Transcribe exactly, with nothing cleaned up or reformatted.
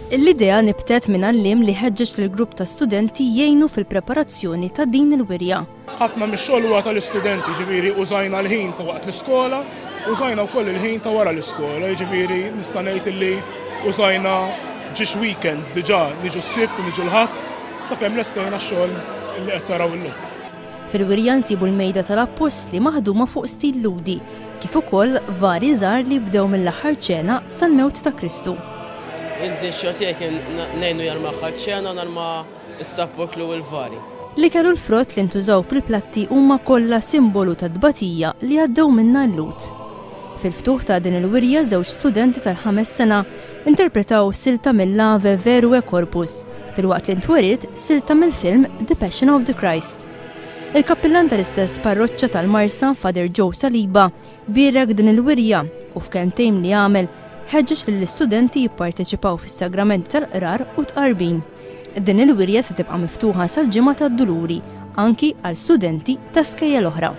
L-idea nibtet minn għalliem li ħeġġeġ lill-grupp ta' studenti jgħinu fil-preparazzjoni ta' din il-wirja. Ħafna mix-xogħol huwa tal-istudenti, ġifieri użajna l-ħin ta' waqt l-iskola, użajna wkoll il-ħin ta' wara l-iskola, ġifieri nista' ngħid illi użajna żewġ weekends diġà, niġu s-Sibt u niġu l-Ħadd, sakemm lestejna x-xogħol li qed taraw illum. Fil-wirja nsibu l-mejda tal-appostli maħduma fuq stil Lhudi, kif ukoll vari żgħar li bdew mill-Aħħar Ċena sal-mewt ta' Kristu. Inti x-xogħol tiegħek kien ngħinu jarma l-Aħħar Ċena, narma s-sappoklu u l-vari. L-ikel u l-frott li ntużaw fil-platti huma kollha simbolu ta' tbatija li għaddew minna l-Lhud. Fil-ftuħ ta' din il-wirja, żewġ studenti tal-ħames sena interpretaw silta mill-Ave Verum Corpus, filwaqt li ntweriet silta mill-film The Passion of the Christ. Il-kappillan tal-istess parroċċa tal-Marsa, Father Joe Saliba, bierek din il-wirja u f'kelmtejn li għamel ħeġġeġ lill-istudenti jipparteċipaw fis-sagrament tal-qrar u tqarbin. Din il-wirja se tibqa' miftuħa sal-Ġimgħa tad-Duluri anki għal studenti ta' skejjel oħra.